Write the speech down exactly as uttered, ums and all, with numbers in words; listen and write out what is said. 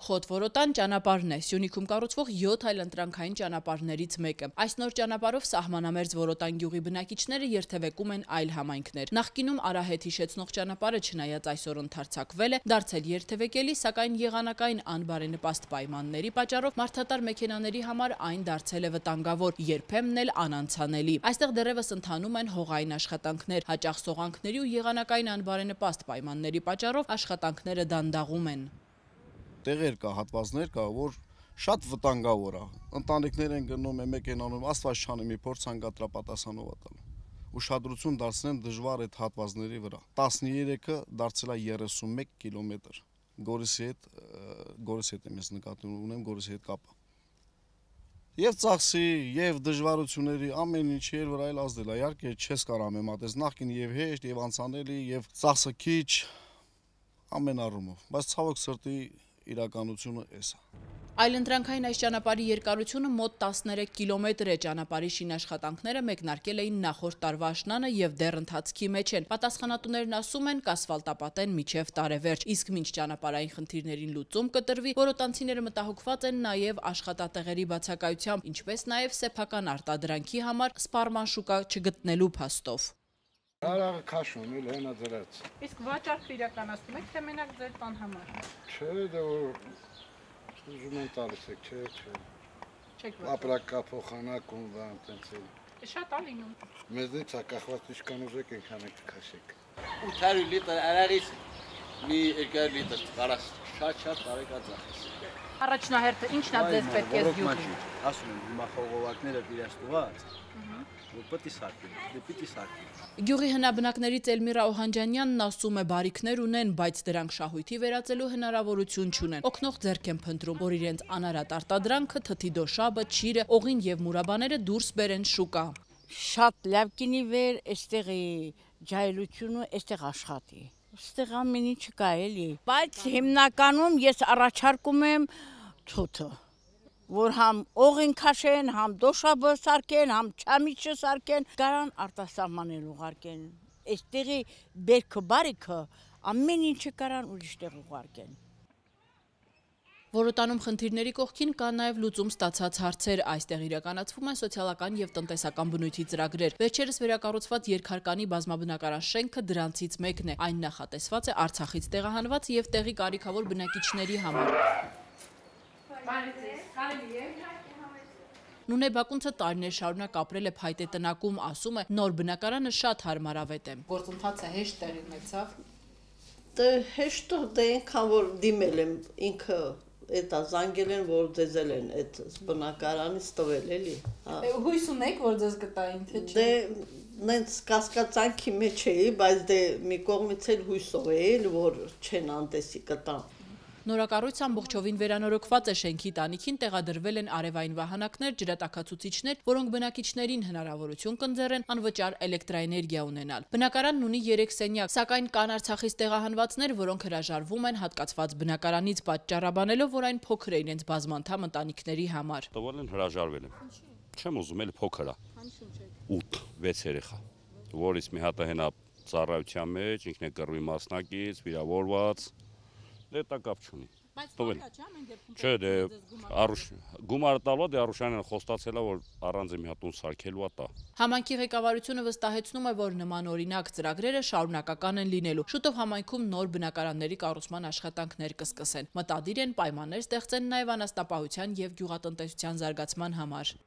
Խոտ-Որոտան ճանապարհն է, Սյունիքում կառուցվող յոթ այլընտրանքային ճանապարհներից մեկը։ Այս նոր ճանապարհով սահմանամերձ Որոտան գյուղի բնակիչները երթևեկում են այլ համայնքներ։ Նախկինում Արահետ հիշեցնող ճանապարհը չնայած այսօր ընդարձակվել է, դարձել երթևեկելի, սակայն եղանակային անբարենպաստ պայմանների պատճառով մարդատար մեքենաների համար այն դարձել է վտանգավոր, երբեմն էլ անանցանելի։ Այստեղ դեռևս ընթանում են հողային աշխատանքներ, հաճախ սողանքների ու եղանակային անբարենպաստ պայմանների պատճառով աշխատանքները դանդաղում են։ Տեղեր կա, հատվածներ կա, որ շատ վտանգավոր է։ Ընտանիքներ են գնում, մեքենանում, աստված չանի մի փորձ հանգատրապատասխանով տալու։ Ուշադրություն դարձնեն դժվար այդ հատվածների վրա։ տասներեքը դարձել է երեսունմեկ կիլոմետր։ Գորիսի հետ, Գորիսի հետ եմ ես նկատի ունեմ, Գորիսի հետ կապը։ Եվ ծախսի, եւ դժվարությունների ամեն ինչի էր վրա էլ ազդել է։ Իհարկե չես կարող համեմատել նախկին եւ հեշտ եւ անցանելի եւ ծախսը քիչ ամեն առումով, բայց ցավոք սրտի իրականությունը էս է։ Այլընտրանքային այս ճանապարհի երկարությունը մոտ տասներեք կիլոմետր է։ Ճանապարհի շինաշխատանքները մեկնարկել էին նախորդ տարվա աշնանը եւ դեռ ընթացքի մեջ են։ Պատասխանատուներն ասում են կասֆալտապատեն մինչեւ տարեվերջ, իսկ մինչ ճանապարհային խնդիրներին լուծում կտրվի, որոտանցիները մտահոգված են նաեւ աշխատատեղերի բացակայությամբ, ինչպես նաեւ սեփական արտադրանքի համար սպառման շուկա չգտնելու փաստով։ Արագ քաշում էլ հենա դրած։ Իսկ վաճառք իրականացնում եք թե մենակ ձեր տան համար։ Չէ, դա ուզում են տալիս եք, չէ, չէ։ Չեք ապրակա փոխանակ ու բան տենց էլ։ Շատ է լինում։ Մեզնից է կախված ինչքան ուզեք այնքան եք քաշեք։ ութ հարյուր լիտր արարից մի երկու լիտր կարաս շատ-շատ տարեկա ծախս։ Առաջնահերթը ինչն է ձեզ պետք է զգյուղի։ Ասում են հիմա խողովակները դիրաստված։ Որ պետք է սարքեն, դե պիտի սարքեն։ Գյուղի հնաբնակներից Էլմիրա Օհանջանյանն ասում է բարիքներ ունեն, բայց դրանք շահույթի վերածելու հնարավորություն չունեն։ Օգնող ձեռք են փնտրում, որ իրենց անարատ արտադրանքը, թթի դոշաբը, ճիրը, օղին եւ մուրաբաները դուրս բերեն շուկա։ Շատ լավ կինի վեր, այստեղի ջայլությունը, այստեղ աշխատի։ Այստեղ ամեն ինչ կա էլի, բայց հիմնականում ես առաջարկում եմ թութը, որ համ օղին քաշեն, համ դոշաբը սարքեն, համ չամիչը սարքեն, կարան արտասահմանել ուղարկեն։ Այստեղի բերքը բարիքը ամեն ինչը կարան ուրիշտեղ ուղարկեն։ Որոտանում խնդիրների կողքին կան նաև լուծում ստացած հարցեր, այստեղ իրականացվում են սոցիալական եւ տնտեսական բնույթի ծրագրեր։ Վերջերս վերակառուցված երկհարկանի բազմաբնակարան շենքը դրանցից մեկն է։ Այն նախատեսված է Արցախից տեղահանված եւ տեղի կարիքավոր բնակիչների համար։ Նունե Բակունցը տարիներ շարունակ ապրել է փայտե տնակում, ասում է նոր բնակարանը շատ հարմարավետ է։ Գործընթացը հեշտ տեղի ունեցավ։ Դե հեշտ դե այնքան որ դիմել եմ ինքը Էտա զանգել են, որ ձեզել են այդ բնակարանից տվել էլի։ Հույս ունեք, որ ձեզ կտային, թե չէ։ Դե նենց կասկածանքի մեջ էի, բայց դե մի կողմից էլ հույսով էի, որ չեն անտեսի կտան։ Նորակառույցը ամբողջովին վերանորոգված է, շենքի տանիքին տեղադրվել են արևային վահանակներ, ջրատաքացուցիչներ, որոնք բնակիչներին հնարավորություն կընձեռեն անվճար էլեկտրաէներգիա ունենալ։ Բնակարանն ունի երեք սենյակ, սակայն կան Արցախից տեղահանվածներ, որոնք հրաժարվում են հատկացված բնակարանից պատճառաբանելով, որ այն փոքր է իրենց բազմանդամ ընտանիքների համար։ Տվել են հրաժարվել եմ։ Չեմ ուզում, էլ փոքր է։ ութ վեց երեխա, որից մի հատը հենա ծառայության մեջ, ինքն է կռվի մասնակից, վիրավորված։ Դե դա կապ չունի։ Բայց տովել չէ՞ ամեն դեպքում։ Չէ, դե առուշ գումարը տալու դե Արուշյանն խոստացել է, որ առանց մի հատ տուն սարքելու է տա։ Համայնքի ղեկավարությունը վստահեցնում է, որ նման օրինակ ծրագրերը շարունակական են լինելու։ Շուտով համայնքում նոր բնակարանների կառուցման աշխատանքներ կսկսեն։ Մտադիր են պայմաններ ստեղծեն նաև անասնապահության եւ գյուղատնտեսության զարգացման համար։